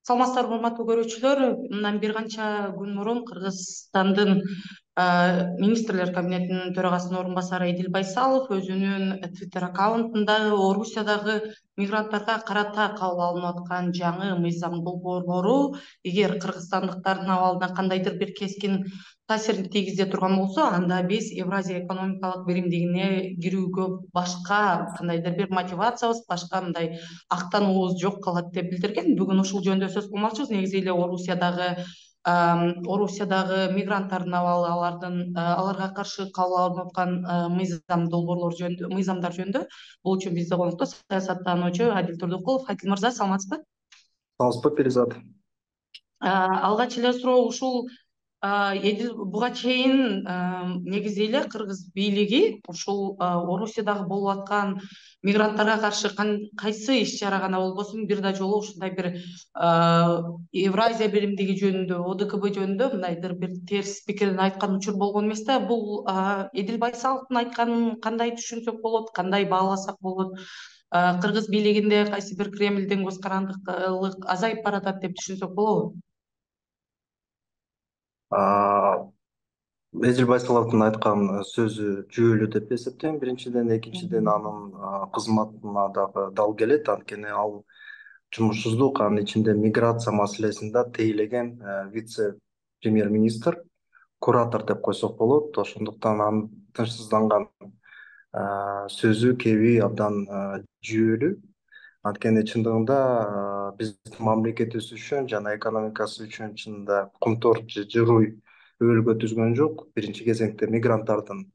Саламатсыздарбы, урматтуу көрүүчүлөр. Мындан бир канча күн мурун Кыргызстандын министрлер кабинетинин төрагасынын орун басары Эдил Байсалов өзүнүн Twitter аккаунтунда Орусиядагы мигранттарга карата кабыл алынып аткан жаңы мыйзам долбоорлору эгер кыргызстандыктардын абалына кандайдыр бир кескин таасирин тийгизе турган болсо, анда биз Евразия экономикалык биримдигине кирүүгө башка кандайдыр бир мотивациябыз, башка мындай актануубуз жок калат деп билдирген. Бүгүн ушул жөнүндө сөз кылмакчыбыз. Негизи эле Орусиядагы мигранттардын абалы, аларга каршы кабыл алынып аткан мыйзамдар жөнүндө. Бул үчүн бизде конокто саясаттануучу Адил Турдукулов. Адил мырза, саламатсызбы? Саламатсызбы, Перизат? Алгач эле суроо ушул. Эдил буга чейин негизи эле кыргыз бийлиги ушул Орусиядагы болуп аткан мигранттарга каршы кайсы иш чара гана болбосун бир да жолу ушундай бир Евразия биримдиги жөнүндө, ОДКБ жөнүндө мындайдыр бир терс пикирин айткан учур болгон эмес да. Бул Эдил Байсаловдун айтканын кандай түшүнсөк болот, кандай бааласак болот? Кыргыз бийлигинде кайсы бир Кремлдин көз карандылык азайып баратат деп түшүнсөк болобу? Эдил Байсаловдун айткан сөзү жүйөлүү деп эсептейм. Биринчиден, экинчиден анын кызматына дагы дал келет. Анткени ал жумушсуздук, анын ичинде миграция маселесин да тейлеген вице-премьер-министр, куратор деп койсок болот. Ошондуктан анын тынчсызданган сөзү кеби абдан жүйөлүү. Анткени чындыгында биздин мамлекетибиз үчүн жана экономикасы үчүн чынында кумтор же жыруй өбөлгө түзгөн жок. Биринчи кезекте мигранттардын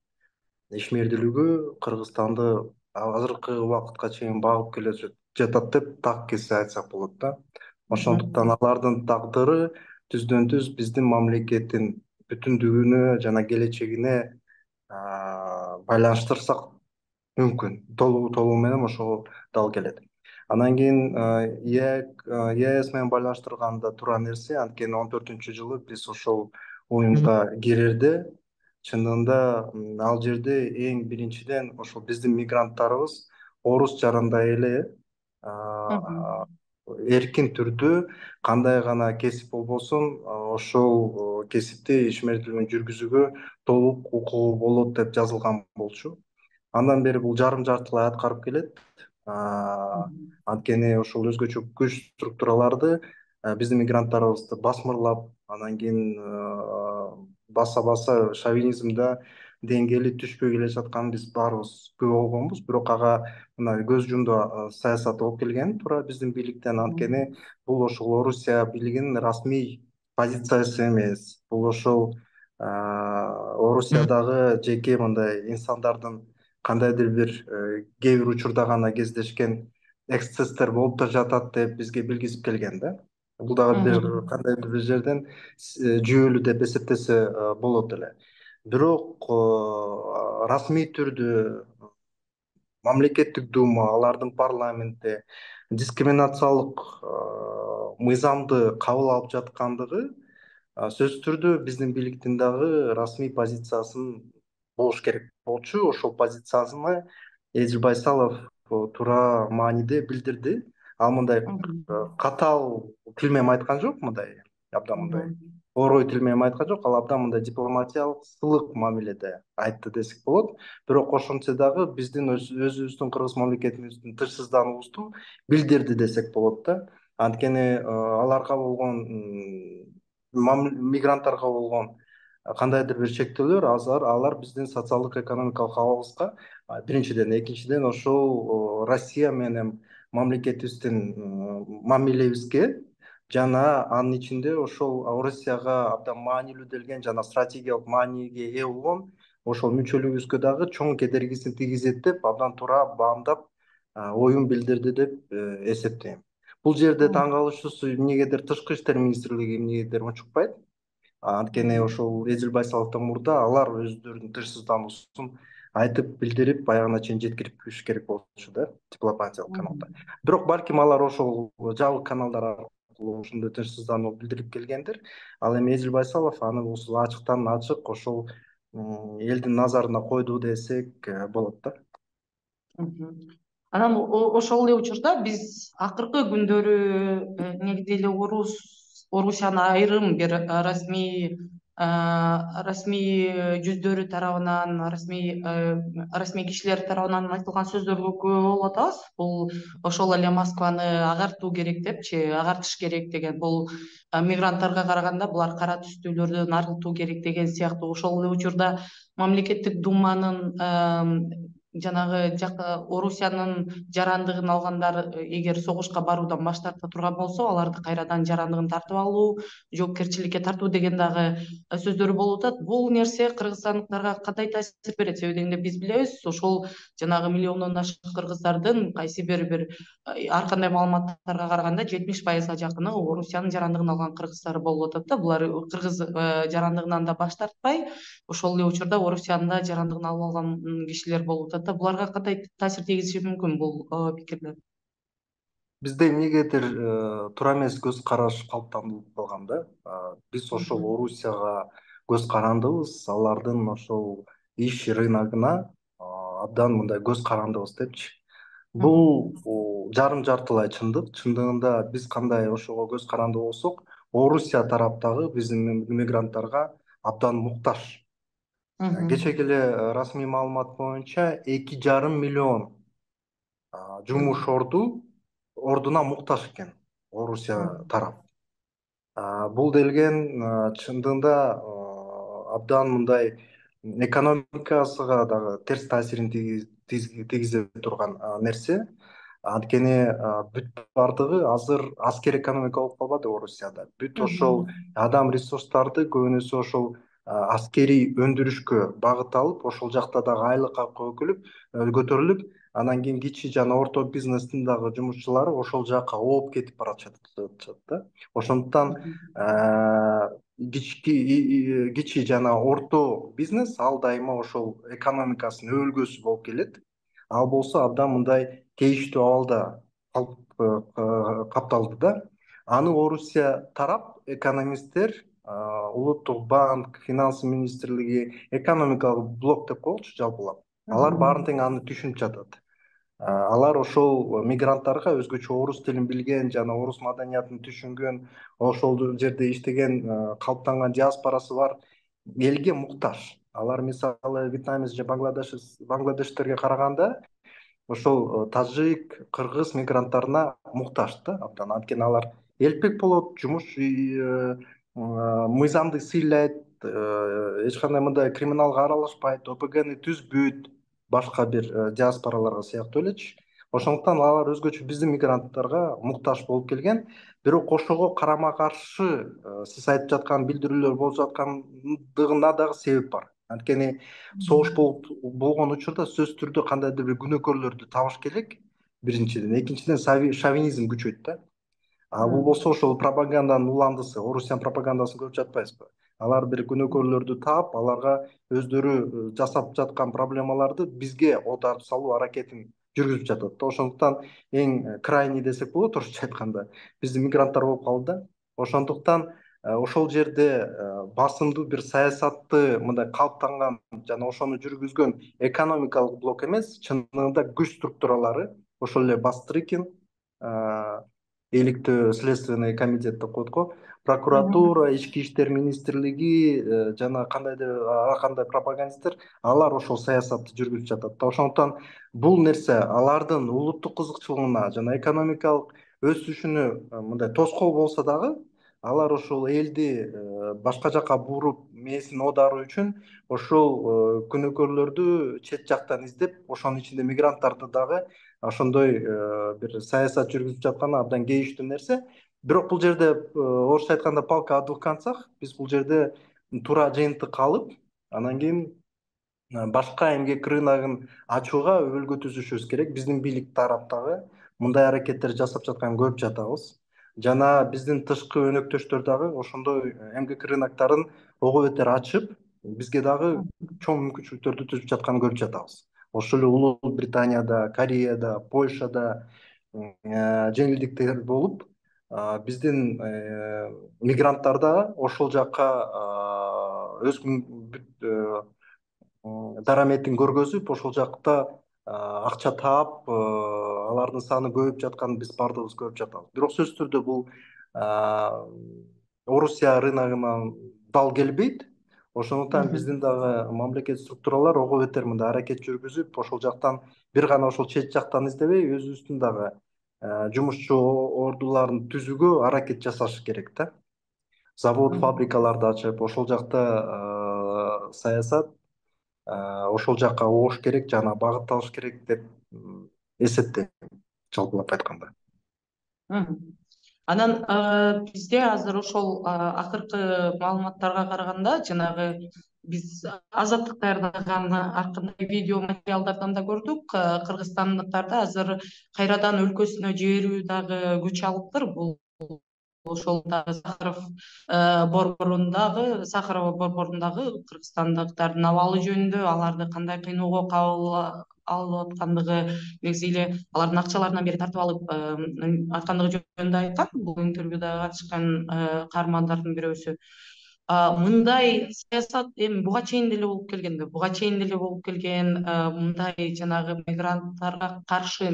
ишмердүүлүгү Кыргызстанды азыркы убакытка чейин багып келе жатат деп так кесе айтсак болот да. Ошондуктан алардын тагдыры түздөн түз биздин мамлекеттин бүтүндүгүнө жана келечегине байланыштырсак мүмкүн. Толугу менен ошого дал келет. Анан кийин ЕАЭС менен байланыштырганда туура нерсе, анткени 14-жылы биз ошол уюмга кирерде чындыгында ал жерде эң биринчиден ошол биздин мигранттарыбыз орус жарандай эле эркин түрдө кандай гана кесип болбосун ошол кесипти ишмердүүлүгүн жүргүзүүгө толук укугу болот деп жазылган болчу. Андан бери бул жарым-жартылай аткарып келет. Анткени ошол өзгөчө күч структураларды биздин мигранттарыбызды басмырлап, анан кийин баса шовинизмде деңгээли түшпөй келе жатканын биз баарыбыз күбө болгонбуз. Бирок ага мына көз жумду саясат болуп келген туура биздин бийликтен. Анткени бул ошол Орусия бийлигинин расмий позициясы эмес. Бул ошол Орусиядагы жеке мындай инсандардын кандайдыр бир кээ бир учурда гана кездешкен эксцесстер болуп да жатат деп бизге билгизип келген да. Бул дагы бир кандайдыр бир жерден жүйөлүү деп эсептесе болот эле. Бирок расмий түрдө мамлекеттик дума, алардын парламенти дискриминациялык мыйзамды кабыл алып жаткандыгы сөзсүз түрдө биздин бийликтин дагы расмий позициясын болуш керек болчу. Ошол позициясыны Эдил Байсалов туура мааниде билдирди. Ал мындай катаал тил менен айткан жок, мындай абдан мындай орой тил менен айткан жок. Ал абдан мындай дипломатиялык, сылык мамиледе айтты десек болот. Бирок ошентсе дагы биздин өзүбүздүн кыргыз мамлекетибиздин тынчсыздануубузду билдирди десек болот да. Анткени аларга болгон мигранттарга болгон кандайдыр бир чектөөлөр алар биздин социалдык экономикалык абалыбызга биринчиден, экинчиден ошол Россия менен мамлекетибиздин мамилебизге жана анын ичинде ошол Россияга абдан маанилүү делген жана стратегиялык мааниге ээ болгон ошол мүчөлүгүбүзгө дагы чоң кедергисин тийгизет деп абдан туура баамдап оюн билдирди деп эсептейм. Бул жерде таң калыштуусу эмнегедир тышкы иштер министрлиги эмнегедир унчукпайт. Анткени ошол Эдил Байсаловдон мурда алар өздөрүнүн тынчсыздануусун айтып билдирип аягына чейин жеткириш керек болчу да, дипломатиялык каналда. Бирок балким алар ошол жабык каналдар аркылуу ушундай тынчсыздануу билдирип келгендир. Ал эми Эдил Байсалов аны ушул ачыктан ачык ошол элдин назарына койду десек болот да. Анан ошол эле учурда биз акыркы күндөрү негизи эле Орусиянын айрым бир расмий жүздөрү тарабынан, расмий кишилер тарабынан айтылган сөздөргө күбө болуп атабыз. Бул ошол эле Москваны агартуу керек депчи, агартыш керек деген, бул мигранттарга караганда булар кара түстүүлөрдөн арылтуу керек деген сыяктуу. Ошол эле учурда мамлекеттик думанын жанагы Орусиянын жарандыгын алгандар эгер согушка баруудан баш тарта турган болсо, аларды кайрадан жарандыгын тартып алуу, жоопкерчиликке тартуу деген дагы сөздөр болуп атат. Бул нерсе кыргызстандыктарга кандай таасир берет? Себеби дегенде биз билебиз, ошол жанагы миллиондон ашык кыргыздардын кайсы бир ар кандай маалыматтарга караганда 70%га жакыны Орусиянын жарандыгын алган кыргыздар болуп атат да. Булар кыргыз жарандыгынан да баш тартпай, ошол эле учурда Орусиянын да жарандыгын алып алган кишилер болуп атат да. Буларга кандай таасир тийгизиши мүмкүн бул пикирлер? Бизде эмнегедир туура эмес көз караш калыптанып калган да. Биз ошол Мгм. Орусияга көз карандыбыз, алардын ошол иш рыногуна абдан мындай көз карандыбыз депчи. Мгм. Бул жарым жартылай чындык. Чындыгында биз кандай ошого көз каранды болсок, Орусия тараптагы биздин мигранттарга абдан муктаж. Кечеги Мгм. эле расмий маалымат боюнча 2,5 миллион жумуш Мгм. ордуна муктаж экен Орусия Мгм. тарап. Бул делген чындыгында абдан мындай экономикасына дагы терс таасирин тийгизе турган нерсе. Анткени бүт бардыгы азыр аскер экономика болуп калбады Орусияда. Бүт ошол Мгм. адам ресурстарды көбүнөсү ошол аскерий өндүрүшкө багыт алып, ошол жакта дагы айлыкка көтөрүлүп, анан кийин кичи жана орто бизнестин дагы жумушчулары ошол жака ооп кетип баратышат да. Ошондуктан кичи жана орто бизнес ал дайыма ошол экономикасынын өбөлгөсү болуп келет. Ал болсо абдан мындай кейиштүү абалда капталды да. Аны Орусия тарап экономисттер, улуттук банк, финансы министрлиги, экономикалык блок деп коелучу жалпылап. Алар баарын тең аны түшүнүп жатат. Алар ошол мигранттарга өзгөчө орус тилин билген жана орус маданиятын түшүнгөн, ошол жерде иштеген, калыптанган диаспорасы бар элге муктаж. Алар мисалы вьетнамец же бангладештерге караганда ошол тажик, кыргыз мигранттарына муктаж да абдан. Анткени алар элпек болот, мыйзамды сыйлайт, эч кандай мындай криминалга аралашпайт, ОПГны түзбөйт, башка бир диаспораларга сыяктуу элечи. Ошондуктан алар өзгөчө биздин мигранттарга муктаж болуп келген. Бирок ошого карама каршы сиз айтып жаткан билдирүүлөр болуп жаткандыгына дагы себеп бар. Анткени согуш болгон учурда сөзсүз түрдө кандайдыр бир күнөөкөрлөрдү табыш керек, биринчиден. Экинчиден шовинизм күчөйт да. Бул болсо ошол пропаганданын уландысы, Орусиянын пропагандасын көрүп жатпайсызбы? Алар бир күнөөкөрлөрдү таап, аларга өздөрү жасап жаткан проблемаларды бизге оодарып салуу аракетин жүргүзүп жатат да. Ошондуктан эң крайний десек болот орусча айтканда, биздин мигранттар болуп калды да. Ошондуктан ошол жерде басымдуу бир саясатты мындай калыптанган жана ошону жүргүзгөн экономикалык блок эмес, чындыгында күч структуралары, ошол эле Бастрыкин, иликтөө следственный комитет деп коет го, прокуратура, ички иштер министрлиги жана ар кандай пропагандисттер, алар ошол саясатты жүргүзүп жатат да. Ошондуктан бул нерсе алардын улуттук кызыкчылыгына жана экономикалык өсүшүнө мындай тоскоол болсо дагы, алар ошол элди башка жака буруп мээсин оодаруу үчүн ошол күнөөкөрлөрдү чет жактан издеп, ошонун ичинде мигранттарды дагы ошондой бир саясат жүргүзүп жатканы абдан кейиштүү нерсе. Бирок бул жерде орусча айтканда палка о двух концах. Биз бул жерде туура жыйынтык алып, анан кийин башка эмгек рыногун ачууга өбөлгө түзүшүбүз керек. Биздин бийлик тараптагы мындай аракеттер жасап жатканын көрүп жатабыз. Жана биздин тышкы өнөктөштөр дагы ошондой эмгек рынокторун ого бетер ачып, бизге дагы чоң мүмкүнчүлүктөрдү түзүп жатканын көрүп жатабыз. Ошол эле Улуу Британияда, Кореяда, Польшада жеңилдиктер болуп, биздин мигранттар да ошол жака өз дараметин көргөзүп, ошол жакта акча таап, алардын саны көбөйүп жатканын биз баардыгыбыз көрүп жатабыз. Бирок сөзсүз түрдө бул Орусия рыногуна дал келбейт. Ошондуктан биздин дагы мамлекет структуралар ого бетер мындай аракет жүргүзүп, ошол жактан бир гана ошол чет жактан издебей, өзүбүздүн дагы жумушчу ордуларын түзүүгө аракет жасаш керек да. Завод, фабрикаларды ачып, ошол жакта саясат ошол жакка огуш керек жана багыт алыш керек деп эсептейм, жалпылап айтканда. Анан бизде азыр ошол акыркы маалыматтарга караганда жанагы биз Азаттык даярдаган ар кандай видео материалдардан да көрдүк, кыргызстандыктарды азыр кайрадан өлкөсүнө жиберүү дагы күч алыптыр. Бул ошол дагы Сахарова борборундагы кыргызстандыктардын абалы жөнүндө, аларды кандай кыйноого кабыл алып аткандыгы, негизи эле алардын акчаларынан бери тартып алып аткандыгы жөнүндө айткан. Бул интервьюда катышкан каармандардын бирөөсү. Мындай саясат эми буга чейин деле болуп келген, мындай жанагы мигранттарга каршы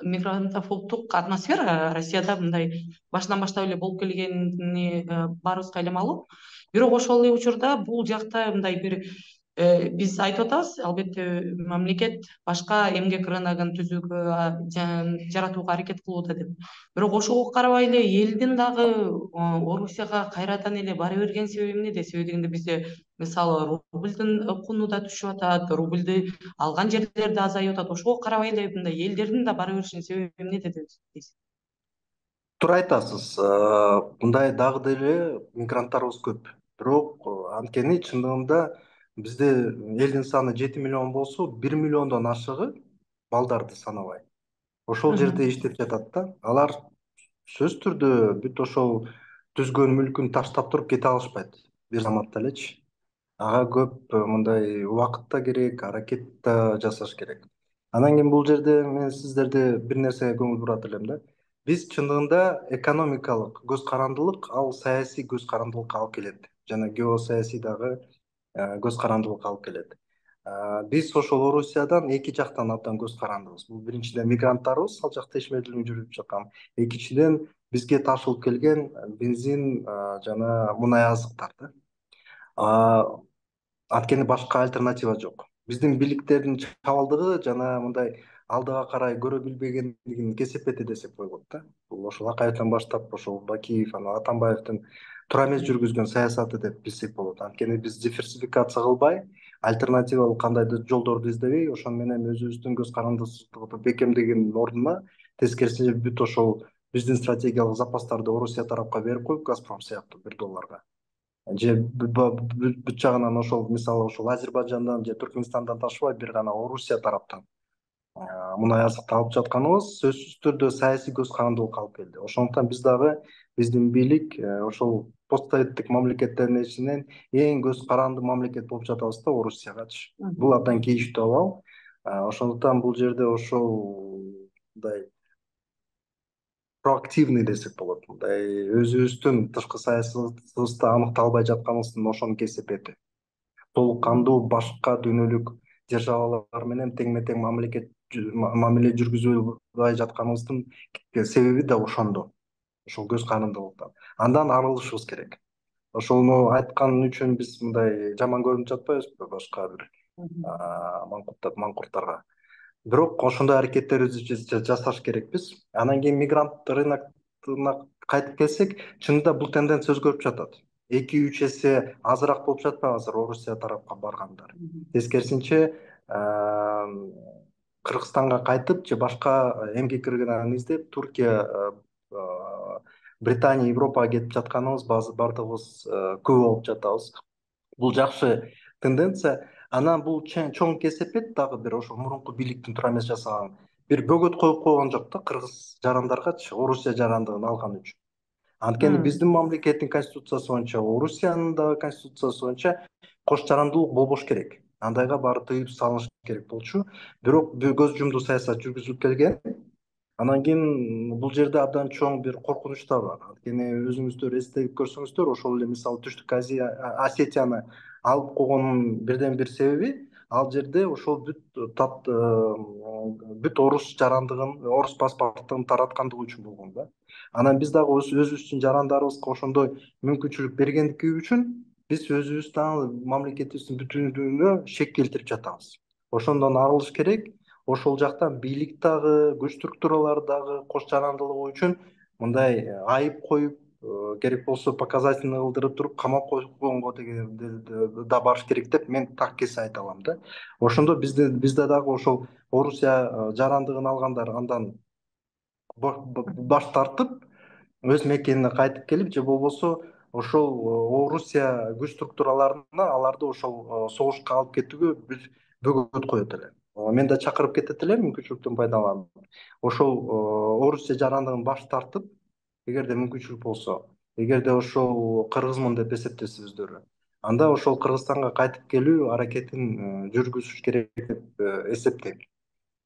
мигрантофобдук атмосфера Россияда мындай башынан баштап эле болуп келгени баарыбызга эле маалым. Бирок ошол эле учурда бул жакта мындай бир биз айтып атабыз, албетте мамлекет башка эмгек рыногун түзүүгө, жаратууга аракет кылууда деп. Бирок ошого карабай эле элдин дагы Орусияга кайрадан эле бара берген себеби эмнеде? Себеби дегенде бизде мисалы рубльдин куну да түшүп атат, рубльди алган жерлерде азайып атат. Ошого карабай эле мындай элдердин да бара беришинин себеби эмнеде дейсиз? Туура айтасыз. Мындай дагы деле мигранттарыбыз көп. Бирок анткени чындыгында бизде элдин саны 7 миллион болсо, 1 миллиондон ашыгы балдарды санабай ошол жерде иштеп жатат да. Алар сөзсүз түрдө бүт ошол түзгөн мүлкүн таштап туруп кете алышпайт бир заматта элечи. Ага көп мындай убакыт да керек, аракет да жасаш керек. Анан кийин бул жерде мен сиздерди бир нерсеге көңүл бурат элем да. Биз чындыгында экономикалык көз карандылык, ал саясий көз карандылыкка алып келет жана геосаясий дагы көз карандылыкка алып келет. Биз ошол Орусиядан эки жактан абдан көз карандыбыз. Бул биринчиден мигранттарыбыз ал жакта иш менен жүрүп жаткан. Экинчиден бизге ташылып келген бензин жана мунай азыктар да. Анткени башка альтернатива жок. Биздин бийликтердин чабалдыгы жана мындай алдыга карай көрө билбегендигин кесепети десек болот да. Бул ошол Акаевден баштап ошол Бакиев, анан Атамбаевдин туура эмес жүргүзгөн саясаты деп билсек болот. Анткени биз диверсификация кылбай, альтернативалык кандайдыр жолдорду издебей, ошону менен өзүбүздүн көз карандысыздыгыбызды бекемдегендин ордуна тескерисинче бүт ошол биздин стратегиялык запастарды Орусия тарапка берип коюп, Газпром сыяктуу $1 же бүт жагынан ошол мисалы ошол Азербайжандан же Түркмөнстандан ташыбай бир гана Орусия тараптан мунай азыкты алып жатканыбыз сөзсүз түрдө саясий көз карандылыкка алып келди. Ошондуктан биз дагы биздин бийлик ошол постсоветтик мамлекеттердин ичинен эң көз каранды мамлекет болуп жатабыз да Орусиягачы. Бул абдан кейиштүү абал. Ошондуктан бул жерде ошол мындай проактивный десек болот. Мындай өзүбүздүн тышкы саясатыбызды аныкталбай жатканыбыздын ошонун кесепети. Толук кандуу башка дүйнөлүк державалар менен теңме тең мамиле жүргүзбөй жатканыбыздын себеби да ошондо. Ошол көз карандылыктан. Андан арылышыбыз керек. Ошону айткан үчүн биз мындай жаман көрүнүп жатпайбызбы башка бир маңкурттарга. Бирок ошондой аракеттерибизди жасаш керекпиз. Анан кийин мигрант рынокуна кайтып келсек, чынында бул тенденция өзгөрүп жатат. 2-3 эсе азыраак болуп жатпайбы азыр Орусия тарапка баргандар. Тескерисинче Кыргызстанга кайтып же башка эмгек рыногун издеп Туркия, Британия, Европага кетип жатканыбыз баардыгыбыз күбө болуп жатабыз. Бул жакшы тенденция. Анан бул чоң кесепет дагы бир ошол мурунку бийликтин туура эмес жасаган бир бөгөт коюп койгон жок да кыргыз жарандаргачы Орусия жарандыгын алган үчүн. Анткени биздин мамлекеттин конституциясы боюнча, Орусиянын дагы конституциясы боюнча кош жарандылык болбош керек. Андайга баары тыюу салыныш керек болчу. Бирок көз жумду саясат жүргүзүлүп келген. Анан кийин бул жерде абдан чоң бир коркунуч да бар. Анткени өзүңүздөр эстеп көрсөңүздөр, ошол эле мисалы Түштүк Осетияны алып койгондун бирден бир себеби Ал жерде ошол бүт орус жарандыгын, орус паспорттун тараткандыгы үчүн болгон да. Анан биз дагы өзүбүздүн жарандарыбызга ошондой мүмкүнчүлүк бергендиги үчүн биз өзүбүздүн мамлекетибиздин бүтүнлүгүнө шек келтирип жатабыз. Ошондон арылыш керек. Ошол жактан бийлик дагы, күч структуралары дагы кош жарандылыгы үчүн мындай айып коюп, керек болсо показательный кылдырып туруп камап койгонго да барыш керек деп мен так кесе айта алам да. Ошондо бизде дагы ошол Орусия жарандыгын алгандар андан баш тартып өз мекенине кайтып келип, же болбосо ошол Орусия күч структураларына аларды ошол согушка алып кетүүгө бөгөт коет эле. Мен да чакырып кетет элем мүмкүнчүлүктөн пайдаланып. Ошол Орусия жарандыгын баш тартып, эгерде мүмкүнчүлүк болсо, эгерде ошол кыргызмын деп эсептесе өздөрү, анда ошол Кыргызстанга кайтып келүү аракетин жүргүзүш керек деп эсептейм.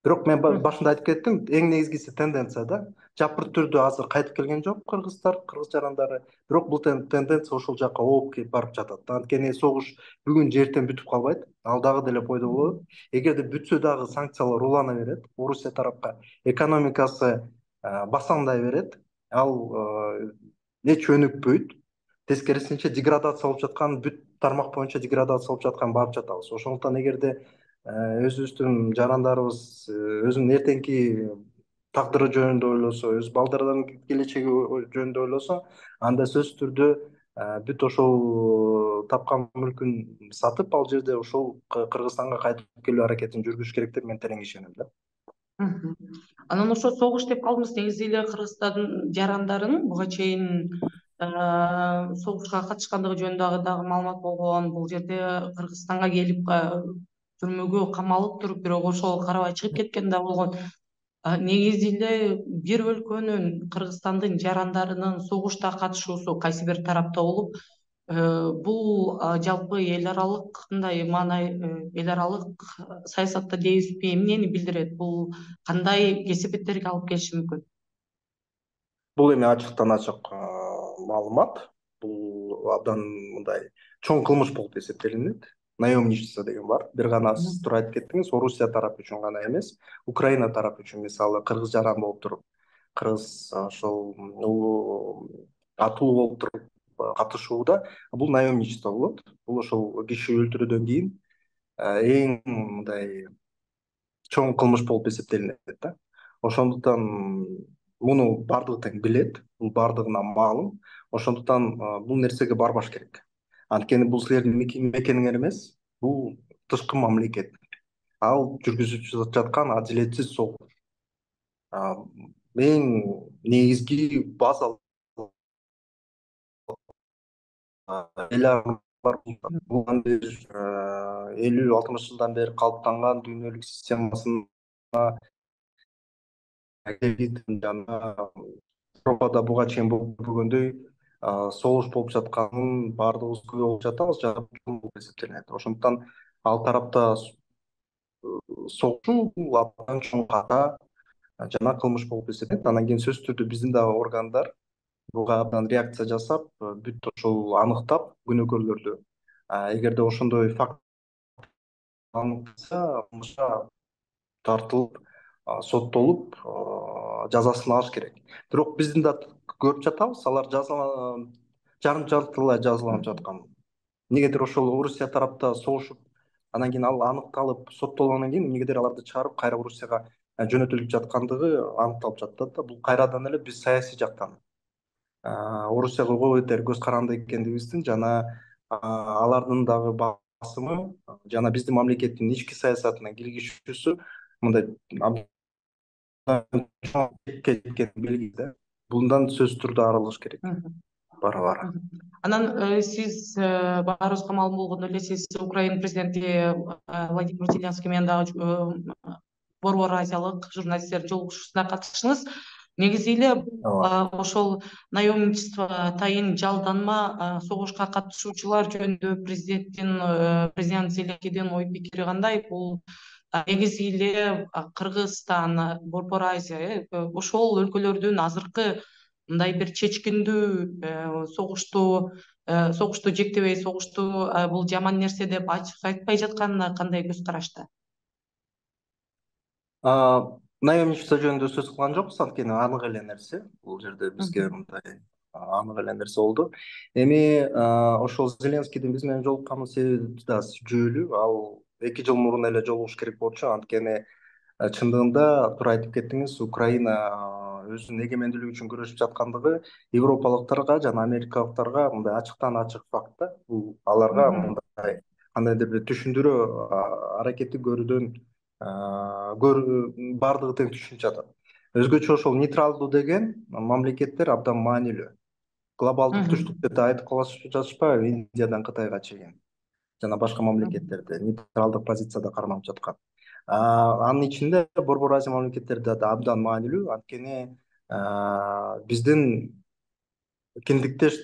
Бирок мен башында айтып кеттим, эң негизгиси тенденция да. Жапырт түрдө азыр кайтып келген жок кыргыздар, кыргыз жарандары. Бирок бул тенденция ошол жака ооп кетип барып жатат. Анткени согуш бүгүн же эртең бүтүп калбайт. Ал дагы деле пайда болот. Эгерде бүтсө дагы санкциялар улана берет Орусия тарапка. Экономикасы басаңдай берет. Ал эч өнүкпөйт. Тескерисинче деградация болуп жаткан, бүт тармак боюнча деградация болуп жаткан барып жатабыз. Ошондуктан эгерде өзүбүздүн жарандарыбыз өзүнүн эртеңки тагдыры жөнүндө ойлосо, өз балдарынын келечеги жөнүндө ойлосо, анда сөзсүз түрдө бүт ошол тапкан мүлкүн сатып, ал жерде ошол Кыргызстанга кайтып келүү аракетин жүргүзүш керек деп мен терең ишенем да. Анан ошо согуш деп калдыңыз, негизи эле Кыргызстандын жарандарынын буга чейин согушка катышкандыгы жөнүндө дагы маалымат болгон. Бул жерде Кыргызстанга келип түрмөгө камалып туруп, бирок ошого карабай чыгып кеткен да болгон. Негизи эле бир өлкөнүн, Кыргызстандын жарандарынын согушта катышуусу кайсы бир тарапта болуп, бул жалпы эл аралык кандай маанай, эл аралык саясатта дейбизби, эмнени билдирет? Бул кандай кесепеттерге алып келиши мүмкүн? Бул эми ачыктан ачык маалымат. Бул абдан мындай чоң кылмыш болуп эсептелинет. Наемничество деген бар. Бир гана сиз туура айтып кеттиңиз, Орусия тарапы үчүн гана эмес, Украина тарапы үчүн, мисалы, кыргыз жаран болуп туруп, кыргыз ошол атуу болуп туруп катышууда, бул наемничество болот. Бул ошол киши өлтүрүүдөн кийин эң мындай чоң кылмыш болуп эсептелинет да. Ошондуктан муну баардыгы тең билет, бул баардыгына маалым. Ошондуктан бул нерсеге барбаш керек. Анткени бул силердин мекениңер эмес, бул тышкы мамлекет. Ал жүргүзүп жаткан адилетсиз согуш. Эң негизги базалык бар. Бул 50-60 жылдан бери калыптанган дүйнөлүк системасына жана Европада буга чейин болуп көргөндөй согуш болуп жатканын баардыгыбыз күбө болуп жатабыз, болуп эсептелинет. Ошондуктан ал тарапта согушу бул абдан чоң ката жана кылмыш болуп эсептелинет. Анан кийин сөзсүз түрдө биздин дагы органдар буга абдан реакция жасап, бүт ошол аныктап күнөөкөрлөрдү. Эгерде ошондой факт аныкса, тартылып, соттолуп, жазасын алыш керек. Бирок биздин да көрүп жатабыз, алар жарым жартылай жазаланып жаткан. Эмнегедир ошол Орусия тарапта согушуп, анан кийин ал аныкталып, соттолгондон кийин эмнегедир аларды чыгарып, кайра Орусияга жөнөтүлүп жаткандыгы аныкталып жатат да. Бул кайрадан эле биз саясий жактан Орусияга кол этер көз каранды экендигибиздин жана алардын дагы басымы жана биздин мамлекеттин ички саясатына киргизүүсү мындай кеткен белги да. Bundan сөзсүз түрдө арылыш керек. Бара-бара. Анан сиз баарыбызга маалым болгондой эле сиз Украина президенти Владимир Зеленский менен дагы Борбор Азиялык журналисттердин жолугушуусуна катыштыңыз. Негизи эле ошол наемничество, тайын жалданма согушка катышуучулар жөнүндө президент Зеленскийдин ой пикири кандай? Бул негизи эле Кыргызстан, Борбор Азия ошол өлкөлөрдүн азыркы мындай бир чечкиндүү согушту жектебей, согушту бул жаман нерсе деп ачык айтпай жатканына кандай көз карашта? Наемничество жөнүндө сөз кылган жокпуз, анткени анык эле нерсе. Бул жерде бизге мындай анык эле нерсе болду. Эми ошол Зеленскийдин биз менен жолуккан себеби да жүйөлүү. Ал 2 жыл мурун эле жолугуш керек болчу, анткени чындыгында туура айтып кеттиңиз, Украина өзүнүн эгемендүүлүгү үчүн күрөшүп жаткандыгы европалыктарга жана америкалыктарга мындай ачыктан ачык факт да. Бул аларга мындай кандайдыр бир түшүндүрүү аракети көрүүдөн баардыгы тең түшүнүп жатат. Өзгөчө ошол нейтралдуу деген мамлекеттер абдан маанилүү. Глобалдык түштүк деп да айтып калышып жатышпайбы, Индиядан Кытайга чейин жана башка мамлекеттерде нейтралдык позицияда карманып жаткан. Анын ичинде Борбор Азия мамлекеттери да абдан маанилүү, анткени биздин киндиктеш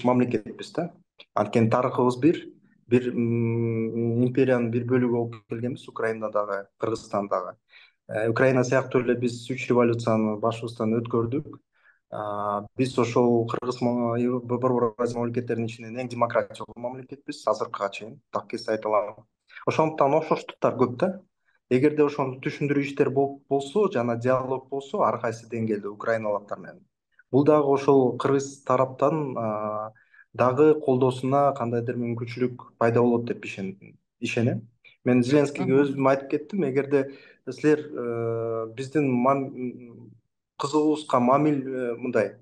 мамлекетпиз да. Анткени тарыхыбыз бир империянын бир бөлүгү болуп келгенбиз, Украина дагы, Кыргызстан дагы. Украина сыяктуу эле биз 3 революцияны башыбыздан өткөрдүк. Биз ошол Борбор Азия мамлекеттеринин ичинен эң демократиялуу мамлекетпиз азыркыга чейин, так эсте айта алам. Ошондуктан окшоштуктар көп да. Эгерде ошону түшүндүрүү иштер болсо жана диалог болсо ар кайсы деңгээлде украиналыктар менен, бул дагы ошол кыргыз тараптан дагы колдоосуна кандайдыр мүмкүнчүлүк пайда болот деп ишенем. Мен Зеленскийге өзүм айтып кеттим, эгерде силер биздин кызыгуубузга мындай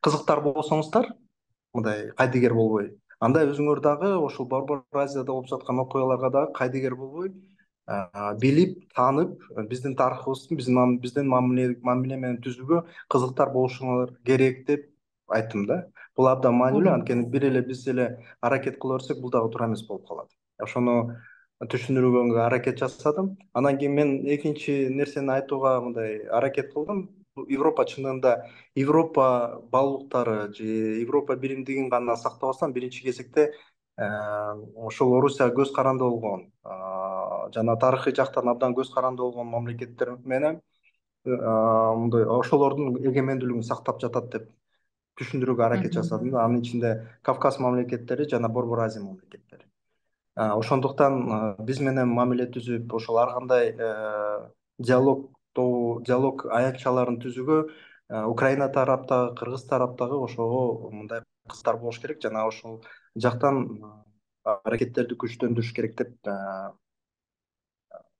кызыктар болсоңуздар, мындай кайдыгер болбой, анда өзүңөр дагы ошол Борбор Азияда болуп жаткан окуяларга дагы кайдыгер болбой, билип, таанып, биздин тарыхыбызды, биздин мамиле менен түзүүгө кызыктар болушуңар керек деп айттым да. Бул абдан маанилүү, анткени бир эле биз эле аракет кыла берсек, бул дагы туура эмес болуп калат. Ошону түшүндүрүүгө аракет жасадым. Анан кийин мен экинчи нерсени айтууга мындай аракет кылдым. Европа чынында Европа баалуулуктары же Европа биримдигин гана сактабастан биринчи кезекте ошол Орусияга көз каранды болгон жана тарыхый жактан абдан көз каранды болгон мамлекеттер менен мындай ошолордун эгемендүүлүгүн сактап жатат деп түшүндүрүүгө аракет жасадым. Анын ичинде Кавказ мамлекеттери жана Борбор Азия мамлекеттери. Ошондуктан биз менен мамиле түзүп, ошол ар кандай диалог аянтчаларын түзүүгө Украина тараптагы, Кыргыз тараптагы ошого мындай кызыктар болуш керек жана ошол жактан аракеттерди күчтөндүрүш керек деп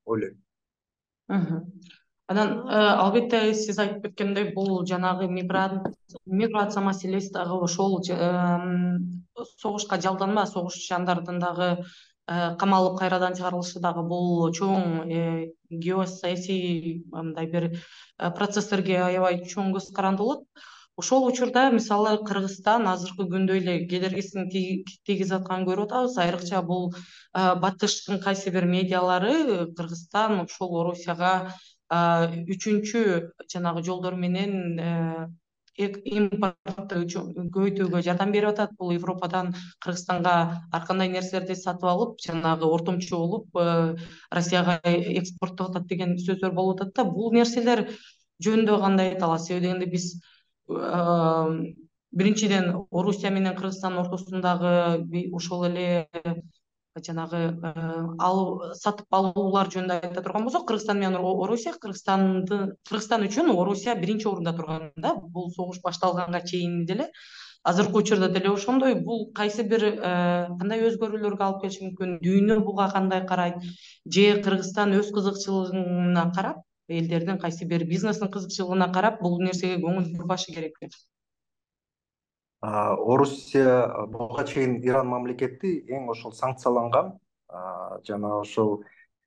ойлойм. Анан албетте сиз айтып кеткендей, бул жанагы миграция маселеси дагы ошол согушка жалданма, согушчандардын дагы камалып кайрадан чыгарылышы дагы бул чоң геосаясий мындай бир процесстерге аябай чоң көз каранды болот. Ошол учурда мисалы Кыргызстан азыркы күндө эле кедергисин тийгизип атканын көрүп атабыз. Айрыкча бул батыштын кайсы бир медиалары Кыргызстан ушул Орусияга үчүнчү жанагы жолдор менен импортту көбөйтүүгө жардам берип атат. Бул Европадан Кыргызстанга ар кандай нерселерди сатып алып, жанагы ортомчу болуп Россияга экспорттоп атат деген сөздөр болуп атат да. Бул нерселер жөнүндө кандай айта аласыз? Себеби дегенде биз биринчиден Орусия менен Кыргызстандын ортосундагы ошол эле жанагы сатып алуулар жөнүндө айта турган болсок, Кыргызстан менен Орусия, Кыргызстан үчүн Орусия биринчи орунда турган да. Бул согуш башталганга чейин деле, азыркы учурда деле ошондой. Бул кайсы бир кандай өзгөрүүлөргө алып келиши мүмкүн? Дүйнө буга кандай карайт? Же Кыргызстан өз кызыкчылыгына карап, элдердин кайсы бир бизнестин кызыкчылыгына карап бул нерсеге көңүл бурбашы керекпи? Орусия буга чейин Иран мамлекети эң ошол санкцияланган жана ошол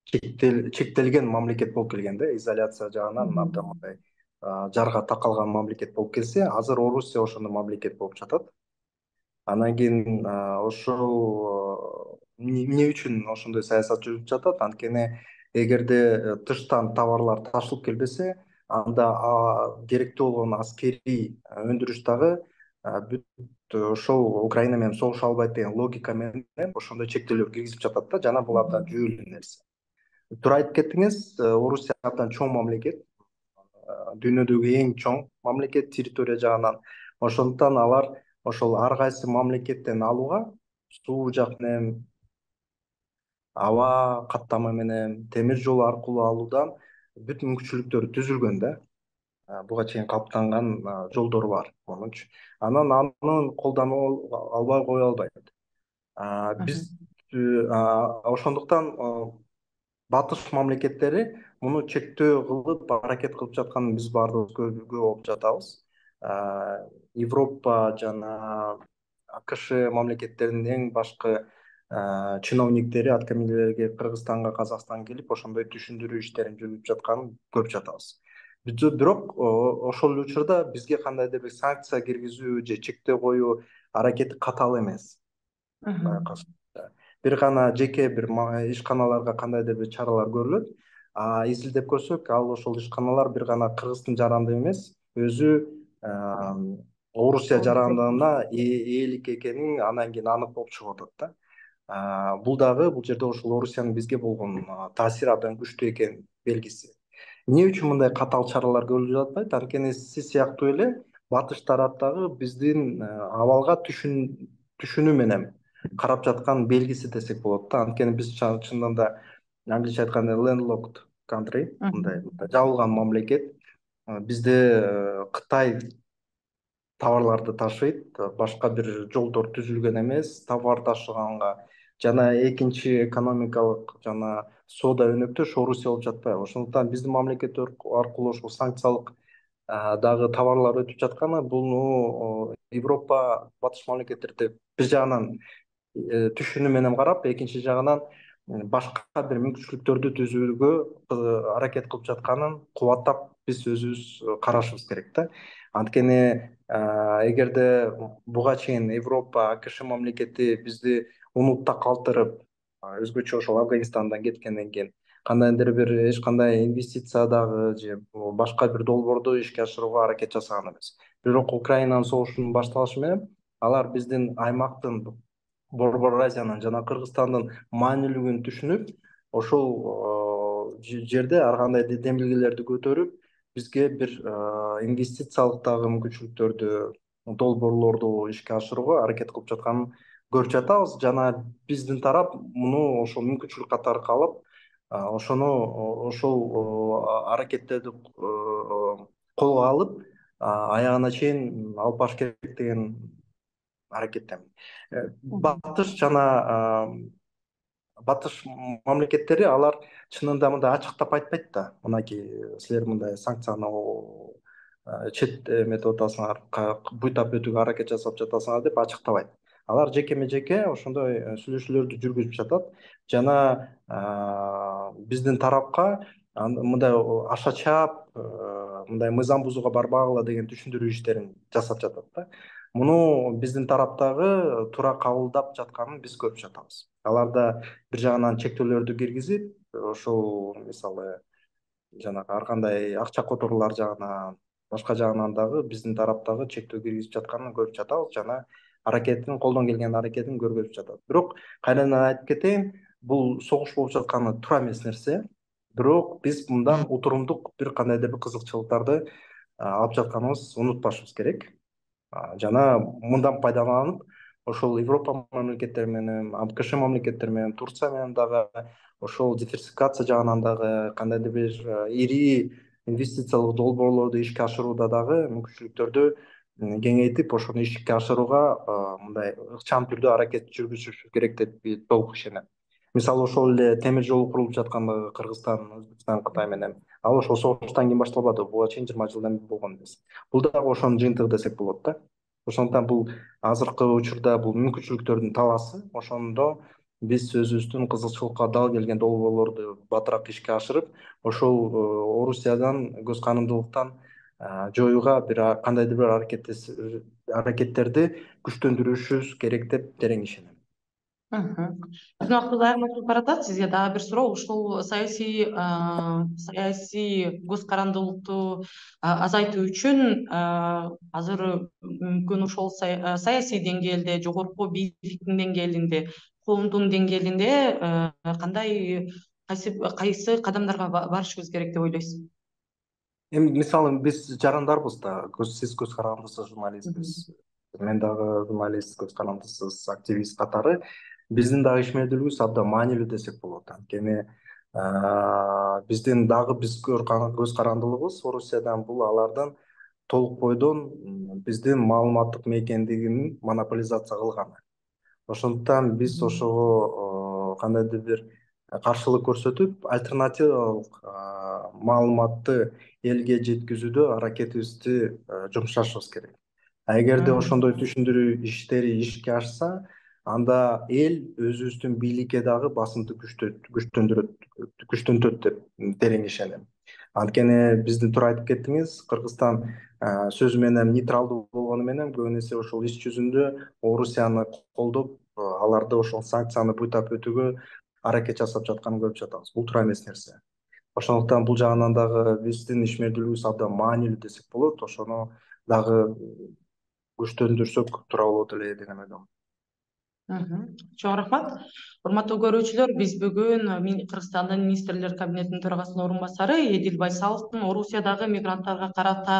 чектелген мамлекет болуп келген да, изоляция жагынан абдан мындай жарга такалган мамлекет болуп келсе, азыр Орусия ошондой мамлекет болуп жатат. Анан кийин ошол эмне үчүн ошондой саясат жүрүп жатат? Анткени эгерде тыштан товарлар ташылып келбесе, анда керектүү болгон аскерий өндүрүш дагы бүт ошол Украина менен согуша албайт деген логика менен ошондой чектөөлөр киргизип жатат да, жана бул абдан жүйөлүү нерсе. Туура айтып кеттиңиз, Орусия абдан чоң мамлекет. дүйнөдөгү эң чоң мамлекет территория жагынан. Ошондуктан алар ошол ар кайсы мамлекеттен алууга суу жак менен, аба каттама менен, темир жол аркылуу алуудан бүт мүмкүнчүлүктөр түзүлгөн да. Буга чейин калыптанган жолдор бар монунчу. Анан аны колдонуп албай кое албайт. Биз ошондуктан батыш мамлекеттери муну чектөө кылып аракет кылып жатканын биз баарыбыз көрүп болуп жатабыз. Европа жана АКШ мамлекеттеринин эң башкы чиновниктери, аткаминерлери Кыргызстанга, Казакстанга келип ошондой түшүндүрүү иштерин жүргүзүп жатканын көрүп жатабыз. Бирок ошол эле учурда бизге кандайдыр бир санкция киргизүү же чектөө коюу аракети катаал эмес. Бир гана жеке бир ишканаларга кандайдыр бир чаралар көрүлөт. Изилдеп көрсөк, ал ошол ишканалар бир гана Кыргыздын жарандыгы эмес, өзү Орусия жарандыгына ээлик экенин анан кийин анык болуп чыгып атат да. Бул жерде ошол Орусиянын бизге болгон таасири абдан күчтүү экенин белгиси. Эмне үчүн мындай катаал чаралар көрүлүп жатпайт? Анткени сиз сыяктуу эле батыш тарап дагы биздин абалга түшүнүү менен карап жаткан белгиси десек болот да. Анткени биз чындыгында да англисче айтканда landlocked country, мындай жабылган мамлекет. Бизде Кытай товарларды ташыйт, башка бир жолдор түзүлгөн эмес товар ташыганга. Жана экинчи экономикалык жана соода өнөктөш Орусия болуп жатпайбы? Ошондуктан биздин мамлекет аркылуу ошол санкциялык дагы товарлар өтүп жатканы бул Европа батыш мамлекеттерде бир жагынан түшүнүү менен карап, экинчи жагынан башка бир мүмкүнчүлүктөрдү түзүүгө аракет кылып жатканын кубаттап биз өзүбүз карашыбыз керек да. Анткени эгерде буга чейин Европа, АКШ мамлекети бизди унутта калтырып, өзгөчө ошол Афганистандан кеткенден кийин кандайдыр бир эч кандай инвестиция дагы же башка бир долбоорду ишке ашырууга аракет жасаган эмес. Бирок Украинанын согушунун башталышы менен алар биздин аймактын, Борбор Азиянын жана Кыргызстандын маанилүүлүгүн түшүнүп, ошол жерде ар кандай демилгелерди көтөрүп, бизге бир инвестициялык дагы мүмкүнчүлүктөрдү, долбоорлорду ишке ашырууга аракет кылып жатканын көрүп жатабыз. Жана биздин тарап муну ошол мүмкүнчүлүк катары алып, ошол аракеттерди колго алып, аягына чейин алып барыш керек деген аракеттемин. Батыш мамлекеттери алар чынында мындай ачыктап айтпайт да. Мынакей силер мындай санкцияны чет эметип атасыңар, буйтап өтүүгө аракет жасап жатасыңар деп ачыктабайт. Алар жекеме жеке ошондой сүйлөшүүлөрдү жүргүзүп жатат. Жана биздин тарапка мындай аша чаап, мындай мыйзам бузууга барбагыла деген түшүндүрүү иштерин жасап жатат да. Муну биздин тараптагы туура кабылдап жатканын биз көрүп жатабыз. Алар да бир жагынан чектөөлөрдү киргизип, ошол мисалы жанагы ар кандай акча которуулар жагынан, башка жагынан дагы биздин тараптагы чектөө киргизип жатканын көрүп жатабыз жана колдон келген аракетин көргөзүп жатат. Бирок кайрадан айтып кетейин, бул согуш болуп жатканы туура эмес нерсе. Бирок биз мындан утурумдук бир кандайдыр бир кызыкчылыктарды алып жатканыбыз унутпашыбыз керек. Жана мындан пайдаланып, ошол Европа мамлекеттери менен, АКШ мамлекеттери менен, Турция менен дагы ошол диверсификация жагынан дагы кандайдыр бир ири инвестициялык долбоорлорду ишке ашырууда дагы мүмкүнчүлүктөрдү кеңейтип, ошону ишке ашырууга мындай ыкчам түрдө аракет жүргүзүш керек деп толук ишенем. Мисалы ошол эле темир жол курулуп жаткандыгы Кыргызстан, Өзбекстан, Кытай менен, ал ошол согуштан кийин башталбады, буга чейин 20 жылдан бери болгон эмес. Бул дагы ошонун жыйынтыгы десек болот да. Ошондуктан бул азыркы учурда бул мүмкүнчүлүктөрдүн талаасы. Ошондо биз өзүбүздүн кызыкчылыкка дал келген долбоорлорду батыраак ишке ашырып, ошол Орусиядан көз карандылыктан жоюуга кандайдыр бир аракеттерди күчтөндүрүшүбүз керек деп терең ишенем. Биздин убактыбыз аягына баратат. Сизге дагы бир суроо. Ушул саясий көз карандылыкту азайтуу үчүн азыр мүмкүн ошол саясий деңгээлде, жогорку бийликтин деңгээлинде, коомдун деңгээлинде кайсы кадамдарга барышыбыз керек деп ойлойсуз? Эми мисалы биз жарандарбыз да, сиз көз карандысыз журналистсиз, мен дагы журналист, көз карандысыз активист катары биздин дагы ишмердүүлүгүбүз абдан маанилүү десек болот. Анткени биздин дагы көз карандылыгыбыз Орусиядан бул алардын толук бойдон биздин маалыматтык мейкиндигин монополизация кылганы. Ошондуктан биз ошого кандайдыр бир каршылык көрсөтүп, альтернативалык маалыматты элге жеткизүүдө аракетибизди жумшашыбыз керек. Эгерде ошондой түшүндүрүү иштери ишке ашса, анда эл өзүбүздүн бийликке дагы басымды күчтөнтөт деп терең ишенем. Анткени биздин туура айтып кеттиңиз, Кыргызстан сөзү менен нейтралдуу болгону менен көбүн эсе ошол иш жүзүндө Орусияны колдоп, аларды ошол санкцияны буйтап өтүүгө аракет жасап жатканын көрүп жатабыз. Бул туура эмес нерсе. Ошондуктан бул жагынан дагы биздин ишмердүүлүгүбүз абдан маанилүү десек болот. Ошону дагы күчтөндүрсөк туура болот эле деп ойлойм. Чоң рахмат. Урматтуу көрүүчүлөр, биз бүгүн Кыргызстандын министрлер кабинетинин төрагасынын орун басары Эдил Байсаловдун Орусиядагы мигранттарга карата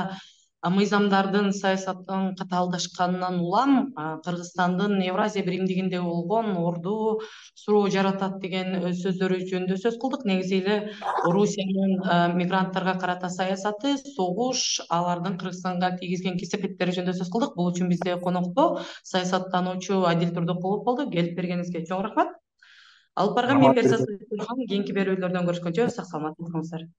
мыйзамдардын саясаттын катаалдашканынан улам Кыргызстандын Евразия биримдигинде болгон орду суроо жаратат деген сөздөрү жөнүндө сөз кылдык. Негизи эле Орусиянын мигранттарга карата саясаты, согуш, алардын Кыргызстанга тийгизген кесепеттери жөнүндө сөз кылдык. Бул үчүн бизде конокто саясаттануучу Адил Турдукулов болду. Келип бергениңизге чоң рахмат. Алып барган мен Берзат Сойкулхан. Кийинки берүүлөрдөн көрүшкөнчө сак саламатта болуңуздар.